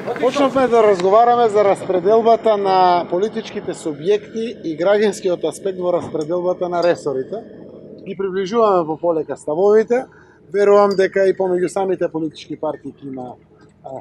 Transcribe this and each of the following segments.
Почнавме да разговараме за распределбата на политичките субјекти и граѓанскиот аспект во распределбата на ресорите. Ги приближуваме по полека ставовите. Верувам дека и помеѓу самите политички партии има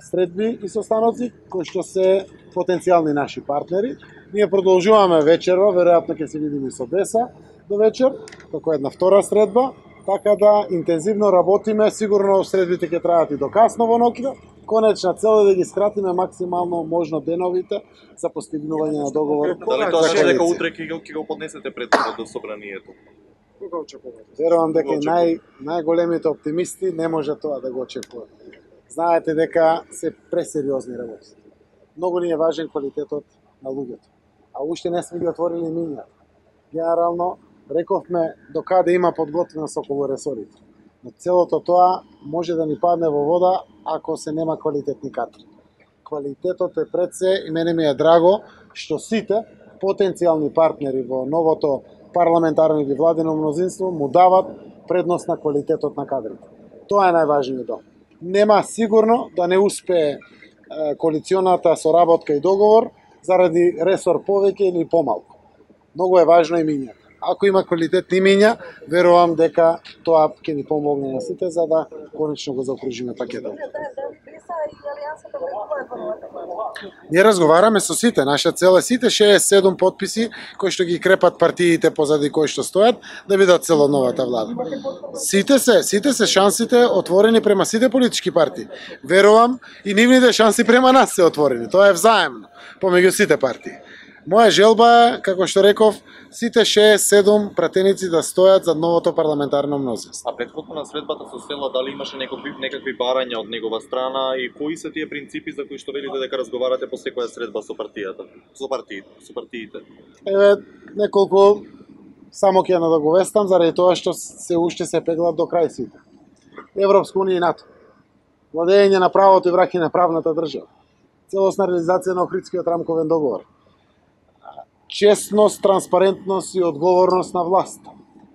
средби и состаноци кои што се потенцијални наши партнери. Ние продолжуваме вечерва, веројатно ќе се видиме со Деса до вечер, како една втора средба, така да интензивно работиме, сигурно средбите ќе траат и до касно во ноќта. Конечна цел е да ги скратиме максимално можно деновите за постигнување на договор. Дали тоа значи дека утре ќе го поднесете пред собранието? Кога очекувате? Верувам дека најголемите оптимисти не може тоа да го очекуваат. Знаете дека се пресериозни работи. Многу ни е важен квалитетот на луѓето, а уште не сме ги отворили минјата. Генерално, рековме до каде има подготвеност околу ресорите. Но целото тоа може да ни падне во вода ако се нема квалитетни кадри. Квалитетот е пред се и мене ми е драго што сите потенцијални партнери во новото парламентарно или владено мнозинство му дават предност на квалитетот на кадрите. Тоа е најважниот. Нема сигурно да не успее коалиционата соработка и договор заради ресор повеќе или помалку. Многу е важно имињето. Ако има квалитетни имиња, верувам дека тоа ќе ни помогне на сите за да конечно го заокружиме пакетот. Ние разговараме со сите, наша цел е сите 67 подписи кои што ги крепат партиите позади кои што стојат да бидат цел новата влада. Сите се шансите отворени према сите политички партии. Верувам и нивните шанси према нас се отворени. Тоа е взаемно помеѓу сите партии. Моја желба е, како што реков, сите 6-7 пратеници да стојат за новото парламентарно мнозинство. А претходно на средбата со Села, дали имаше некакви барања од негова страна и кои се тие принципи за кои што велите дека разговарате по секоја средба со партијата, со партиите? Еве неколку само ќе надоговестам заради тоа што се уште се пеглат до крај сите. Европска унија и НАТО. Владење на правото и враќање на правната држава. Целосна реализација на Охридскиот рамковен договор. Честност, транспарентност и одговорност на власта,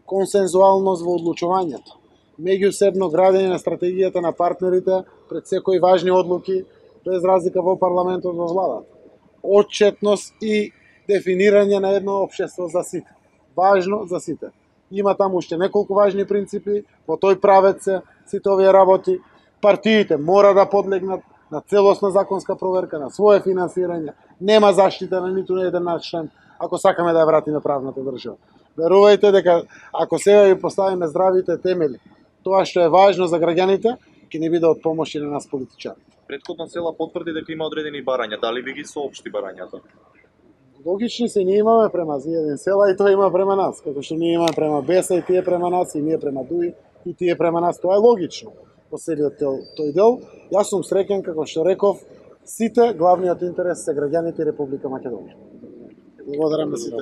консензуалност во одлучувањето, меѓусебно градење на стратегијата на партнерите пред секои важни одлуки, без разлика во парламентот во владата, отчетност и дефинирање на едно општество за сите. Важно за сите. Има таму уште неколку важни принципи, во тој правец се сите овие работи. Партиите мора да подлегнат на целосна законска проверка, на свое финансирање, нема заштита на ниту еден наш член, ако сакаме да ја вратиме правната држава. Верувајте дека ако сега ги поставиме здравите темели, тоа што е важно за граѓаните, ќе ни биде од помош и на нас политичарите. Претходно Села потврди дека има одредени барања, дали ви ги соопшти барањата? Логични се, ние имаме према еден Села и тоа има према нас, како што ние имаме према Беса и тие према нас, и ние према Дуи и тие према нас, тоа е логично. По целиот тој дел, јас сум среќен, како што реков, сите главниот интерес се граѓаните и Република Македонија. Благодарам на сите.